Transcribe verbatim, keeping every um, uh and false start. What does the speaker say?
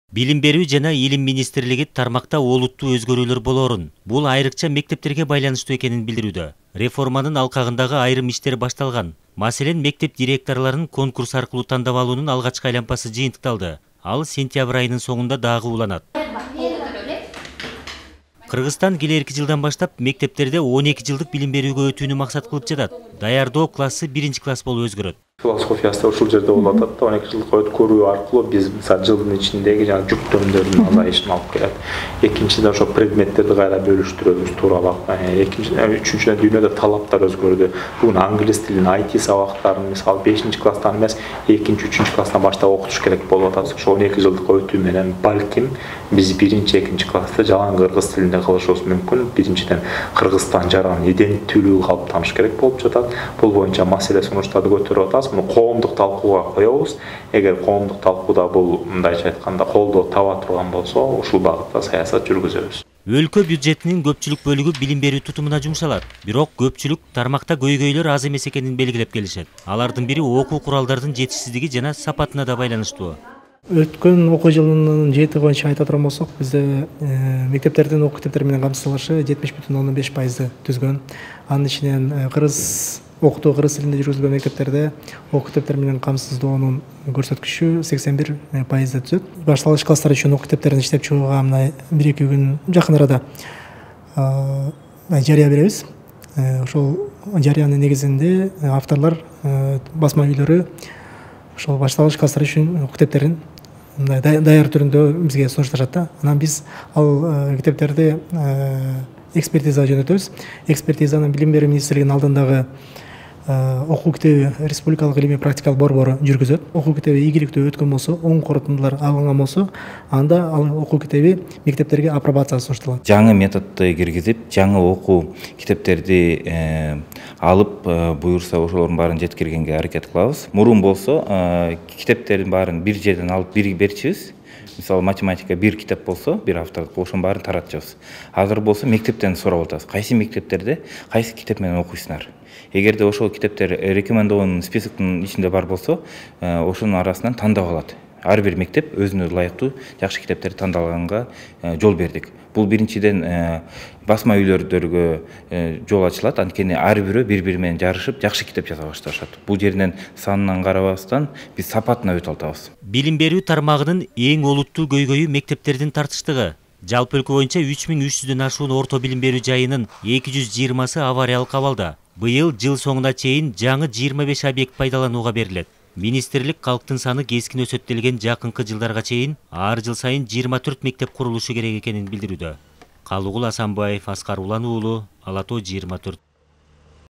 Билим берүү жана илим министрлиги тармакта олуттуу өзгөрүүлөр болоорун, бул айрыкча мектептерге байланыштуу экенин билдирүүдө. Реформанын алкагындагы айрым иштер башталган. Маселен, мектеп директорлорун конкурс аркылуу тандап алуунун алгачкы айланпасы жыйынтыкталды. Ал сентябрь айынын соңунда дагы уланат. Кыргызстан келерки жылдан баштап мектептерде он эки жылдык билим берүүгө өтүүнү максат кылып жатат. Даярдоо классы биринчи класс болуп өзгөрөт. Философиясы ушул жерде болуп атат да, он эки жылдык өткөрүү аркылуу биз мисалы жылдын ичиндеги жана жүктөмдөрдүн азайышын алып келет. Экинчиден ошо предметтерди кайра бөлүштүрөбүз тууралап. Экинчиден, үчүнчүдөн дүйнөдө талаптар өзгөрдү. Бүгүн англис тилин, ай ти сабактарын мисалы бешинчи класстан эмес, экинчи, үчүнчү класстан баштап окутуш керек болуп атат. Ошо он эки жылдык өтүү менен балким биз биринчи, экинчи класста жалаң кыргыз тилинде кылышыбыз мүмкүн. Биринчиден Кыргызстан жаран иденттүүлүгү калыптаныш керек болуп жатат. Бул боюнча маселе сунуштарды көтөрүп атабыз. Муну коомдук талкууга коебуз. Эгер коомдук талкууда бул мындайча айтканда колдоо таба турган болсо, ушул багытта саясат жүргүзөбүз. Өлкө бюджетинин көпчүлүк бөлүгү билим берүү тутумуна жумшалат. Бирок көпчүлүк тармакта көйгөйлөр аз эмес экенин белгилеп келишет. Алардын бири окуу куралдардын жетишсиздиги жана сапатына да байланыштуу. Өткөн окуу жылынын жети боюнча айта турган болсок, бизде мектептердин окуу китептери менен камсыздалышы жетимиш бүтүн ондон беш пайызды түзгөн. Анын ичинен кыргыз окутуу кыргыз тилинде жүргүзүлгөн мектептерде окуу китептер менен камсыздоонун көрсөткүчү сексен бир пайызды түзөт. Башталгыч класстар үчүн окуу китептерин иштеп чыгууга мына бир эки күн жакын арада жарыя беребиз. Ошол жарыянын негизинде авторлор, басма үйлөрү ошол башталгыч класстар үчүн окуу китептерин мындай даяр түрүндө бизге сунушташат да. Анан биз ал китептерди экспертизага жөнөтөбүз. Экспертизаны билим берүү министрлигинин алдындагы окуу китеби республикалык илимий практикалык борбору жүргүзөт. Окуу китеби ийгиликтүү өткөн болсо, оң корутундулар алынган болсо, анда ал окуу китеби мектептерге апробацияга сунушталат. Жаңы методду киргизип, жаңы окуу китептерди алып, буюрса ошолордун баарын жеткиргенге аракет кылабыз. Мурун болсо, китептердин баарын бир жерден алып бир берчүбүз. Мисалы математика бир китеп болсо, бир автордук, ошонун баарын таратчыбыз. Азыр болсо мектептен сурап атабыз. Кайсы мектептерде кайсы китеп менен окуйсуңар? Эгерде ошол китептер рекомендованный списоктун ичинде бар болсо, ошонун арасынан тандап алат. Ар бир мектеп өзүнө ылайыктуу жакшы китептерди тандаганга жол бердик. Бул биринчиден басма үйлөрдөргө жол ачылат, анткени ар бирөө бири-бири менен жарышып жакшы китеп жаза башташат. Бул жеринен санынан карабастан биз сапатына өтө алабыз. Билим берүү тармагынын эң олуттуу көйгөйү мектептердин тартыштыгы. Жалпы өлкө боюнча үч миң үч жүздөн ашуун орто билим берүү жайынын эки жүз жыйырмасы авариялык абалда. Быйыл жыл соңуна чейин жаңы жыйырма беш объект пайдаланууга берилет. Министрлик калктын саны кескин өсөт делген жакынкы жылдарга чейин ар жыл сайын жыйырма төрт мектеп курулушу керек экенин билдирүүдө. Калыгул Асанбаев, Аскар Улан уулу, Ала тоо жыйырма төрт.